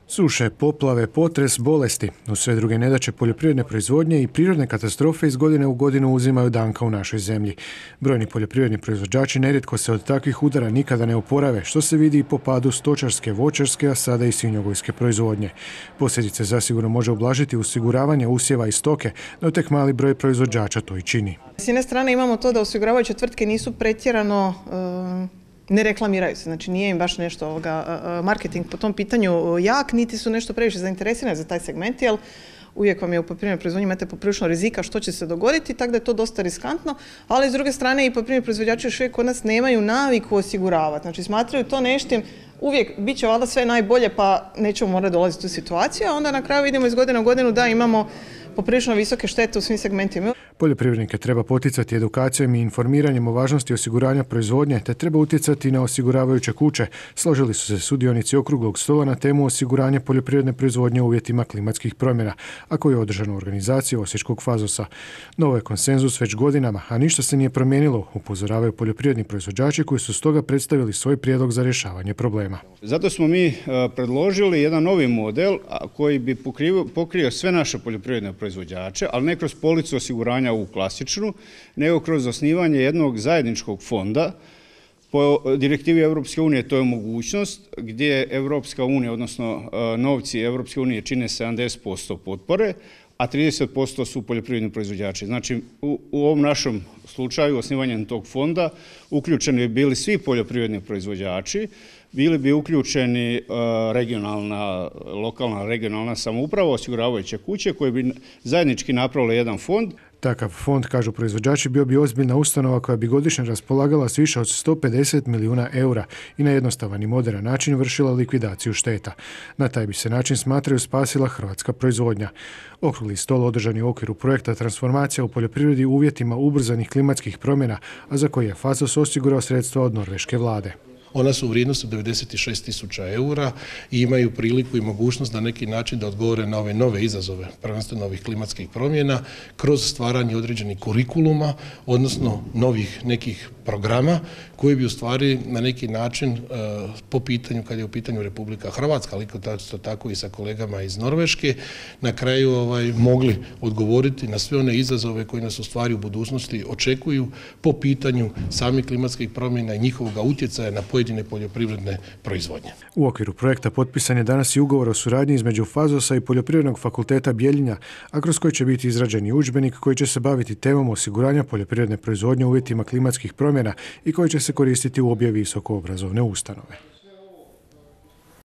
Suše, poplave, potres, bolesti, uz sve druge nedaće poljoprivredne proizvodnje i prirodne katastrofe iz godine u godinu uzimaju danka u našoj zemlji. Brojni poljoprivredni proizvođači nerijetko se od takvih udara nikada ne oporave, što se vidi i po padu stočarske, voćarske, a sada i svinjogojske proizvodnje. Posljedice zasigurno može ublažiti osiguravanje usjeva i stoke, no tek mali broj proizvođača to i čini. S jedne strane imamo to da osiguravajuće tvrtke nisu pretjerano ne reklamiraju se, znači nije im baš nešto marketing po tom pitanju jak, niti su nešto previše zainteresirani za taj segment, jer uvijek vam je u poljoprivrednoj proizvodnji imate poprilično rizika što će se dogoditi, tako da je to dosta riskantno, ali s druge strane i poljoprivredni proizvođači još uvijek kod nas nemaju naviku osiguravati, znači smatraju to neštim, uvijek bit će valjda sve najbolje pa nećemo morati dolaziti u situaciju, a onda na kraju vidimo iz godine u godinu da imamo poprilično visoke štete u svim segmentima. Poljoprivrednike treba poticati edukacijom i informiranjem o važnosti osiguranja proizvodnje, te treba utjecati na osiguravajuće kuće. Složili su se sudionici okruglog stola na temu osiguranja poljoprivredne proizvodnje u uvjetima klimatskih promjena, a koji je održan u organizaciji Osječkog Fazosa. Novo je konsenzus već godinama, a ništa se nije promijenilo, upozoravaju poljoprivredni proizvođači koji su stoga predstavili svoj prijedlog za rješavanje problema. Zato smo mi predložili jedan novi model koji bi pokrio sve naše poljoprivredne proizvođače, ali ne kroz policu osiguranja u klasičnu, nego kroz osnivanje jednog zajedničkog fonda. Po direktivi Europske unije to je mogućnost gdje Europska unija, odnosno novci Europske unije čine 70% potpore, a 30% su poljoprivredni proizvođači. Znači, u ovom našem slučaju osnivanjem tog fonda uključeni bi bili svi poljoprivredni proizvođači, bili bi uključeni lokalna regionalna samouprava, osiguravajuće kuće koje bi zajednički napravile jedan fond. Takav fond, kažu proizvođači, bio bi ozbiljna ustanova koja bi godišnje raspolagala s više od 150 milijuna eura i na jednostavan i moderan način vršila likvidaciju šteta. Na taj bi se način, smatraju, spasila hrvatska proizvodnja. Okrugli stol održan je u okviru projekta Transformacija u poljoprivredi u uvjetima ubrzanih klimatskih promjena, a za koji je Fazos osigurao sredstva od norveške vlade. Ona su u vrijednosti 96.000 eura i imaju priliku i mogućnost na neki način da odgovore na ove nove izazove, prvenstveno ovih klimatskih promjena, kroz stvaranje određenih kurikuluma, odnosno novih nekih programa koji bi u stvari na neki način po pitanju, kad je u pitanju Republika Hrvatska, ali tako i sa kolegama iz Norveške, na kraju mogli odgovoriti na sve one izazove koji nas u stvari u budućnosti očekuju po pitanju samih klimatskih promjena i njihovog utjecaja na pojedine poljoprivredne proizvodnje. U okviru projekta potpisan je danas i ugovor o suradnji između Fazosa i Poljoprivrednog fakulteta Bjeljina, a kroz koji će biti izrađen i udžbenik koji će se baviti temom osiguranja poljoprivredne proizvodnje u uvjetima klimatskih promjena i koji će se koristiti u obje visokoobrazovne ustanove.